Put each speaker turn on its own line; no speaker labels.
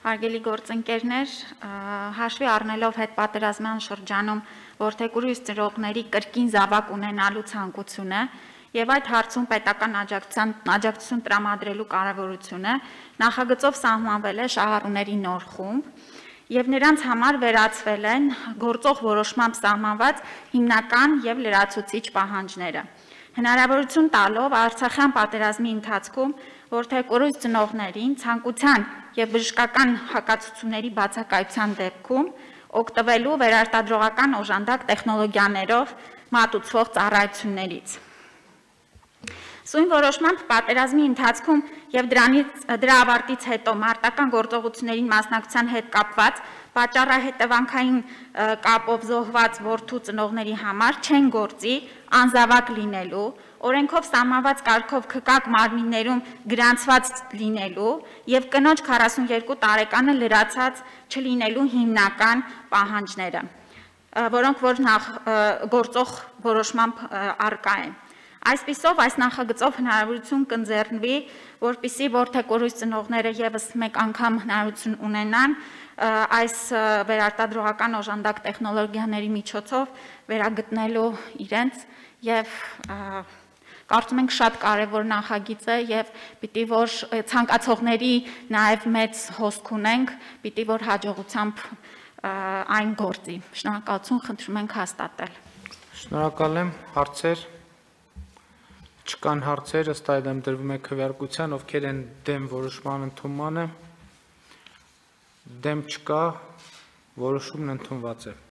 Հարգելի գործընկերներ, հաշվի առնելով հետպատերազմյան շրջանում որդեգրույց ծնողների կրկին զավակ ունենալու ցանկությունը եւ այդ հարցում պետական աջակցություն տրամադրելու կարեւորությունը, նախագծով սահմանվել է շահառուների նոր խումբ եւ նրանց համար վերացվել են գործող որոշմամբ սահմանված հիմնական եւ լրացուցիչ պահանջները։ Հնարավորություն տալով Արցախյան պատերազմի ընթացքում որդեգրույց ծնողներին ցանկության եւ բժշկական հակացությունների բացակայության դեպքում օգտվելու վերարտադրողական օժանդակ տեխնոլոգիաներով մատուցվող ծառայություններից։ Սույն որոշմամբ պատերազմի ընթացքում եւ դրա ավարտից հետո մարտական գործողություններին մասնակցության հետ կապված պատճառահետևանքային կապով զոհված որդու ծնողների համար չեն գործի անզավակ լինելու, օրենքով սահմանված կարգով քկակ մարմիններում գրանցված լինելու եւ կնոջ 42 տարեկանը լրացած չլինելու հիմնական պահանջները, որոնք որ գործող որոշմամբ առկա են։ Այսպիսով այս նախագծով հնարավորություն կընձեռնվի, որպեսզի որդեգրույց ծնողները եւս մեկ անգամ հնարավորություն ունենան այս վերարտադրողական օժանդակ տեխնոլոգիաների միջոցով վերագտնելու իրենց եւ կարծում ենք շատ կարեւոր նախագիծ է եւ պիտի որ ցանկացողների նաեւ մեծ հոսք ունենք, պիտի որ հաջողությամբ այն գործի։ Շնորհակալություն, խնդրում ենք հաստատել։
Շնորհակալ եմ, հարցեր Չկան հարցեր, ըստ այդմ դրվում է քվեարկության, ովքեր են դեմ որոշման ընդունմանը, դեմ չկա, որոշումն ընդունված է։